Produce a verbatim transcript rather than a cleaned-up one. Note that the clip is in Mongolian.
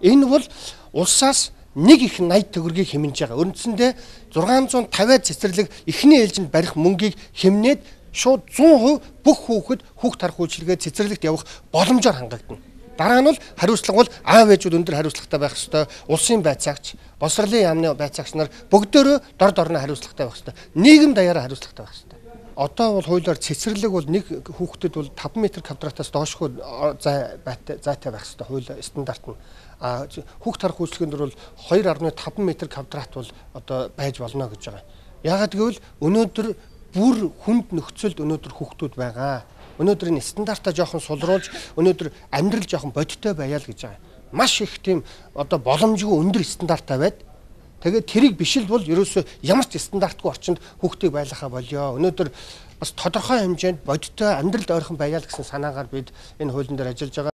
Энэ бол улсаас нэг их найд төгрөгийг хэмнэж байгаа. Үндсэндээ зургаан зуун тавиад цэцэрлэг эхний ээлжинд барих мөнгийг хэмнээд шууд зуун хувь бүх хүүхэд хүүхд тарах үйлчилгээ цэцэрлэгт явах боломжоор хангагдана. Дараа нь бол хариуцлага бол аав ээжүүд өндөр хариуцлагатай байх ёстой. Улсын байцаагч, боловсролын яамны байцаагч нар бүгдөө дор дорно хариуцлагатай байх ёстой. Нийгэм даяараа хариуцлагатай байх ёстой. Одоо бол хуулиар цэцэрлэг бол нэг хүүхдэд бол таван метр квадратаас доошгүй зай зайтай байх ёстой. Хууль стандарт нь. А хүүхд тарах үйлчлэгэнд бол хоёр гаруй таван метр квадрат бол одоо байж болно гэж байгаа. Яагаад гэвэл өнөөдөр бүр хүнд нөхцөлд өнөөдөр хүүхдүүд байгаа. Өнөөдөр энэ стандартаа жоохон сулруулж өнөөдөр амьдрал жоохон бодиттой байяа л гэж байгаа. Маш их тийм одоо боломжгүй өндөр стандартаа байд. Тэгээд тэрийг биш л бол ерөөсөө ямар ч стандартгүй орчинд хүүхдийг байлгахаа болёо. Өнөөдөр бас тодорхой хэмжээнд бодиттой амьдралд ойрхон байяа л гэсэн санаагаар бид энэ хуулийн дээр ажиллаж байгаа.